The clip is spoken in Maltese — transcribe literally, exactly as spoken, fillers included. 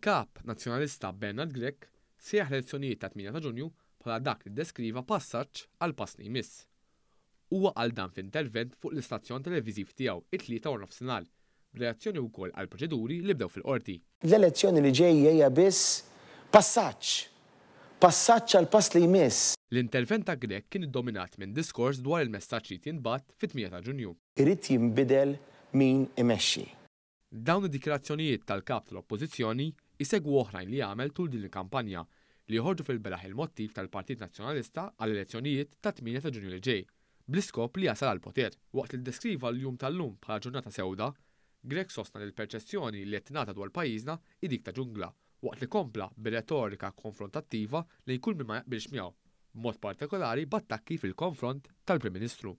Il-Kap Nazzjonalista Bernard Grech sejjaħ l-elezzjonijiet ta' tmienja ta' Ġunju bħala dak li ddeskriva passaġġ għal pass li jmiss. Huwa qal dan f'intervent fuq l-istazzjon televiżiv tiegħu it-Tlieta wara nofsinhar, b'reazzjoni wkoll għal proċeduri li bdew fil-qorti. L-elezzjoni li ġejja hija biss passaġġ. Passaġġ għal pass li jmiss. L-intervent ta' Grech kien iddominat minn diskors dwar il-messaġġ li jintbagħat fit-tmienja ta' Ġunju. Irid jinbidel min imexxi. Dawn id-dikjarazzjonijiet tal-kap tal-Oppożizzjoni jsegwu oħrajn li għamel tul din il-kampanja li joħorġu fil-beraħ il-mottiv tal-Partit Nazzjonalista għall-elezzjonijiet ta' tmienja ta' Ġunju li ġej, bl-iskop li jasal għall-poter. Waqt li ddeskriva l-jum tal-lum bħala ġurnata sewda, Grech sostna li l-perċezzjoni li qed tingħata dwar pajjiżna hi dik ta' ġungla, waqt li kompla bir-retorika konfrontattiva lejn kull min ma jaqbilx miegħu, b'mod partikolari b'attakki fil-konfront tal-Prim Ministru.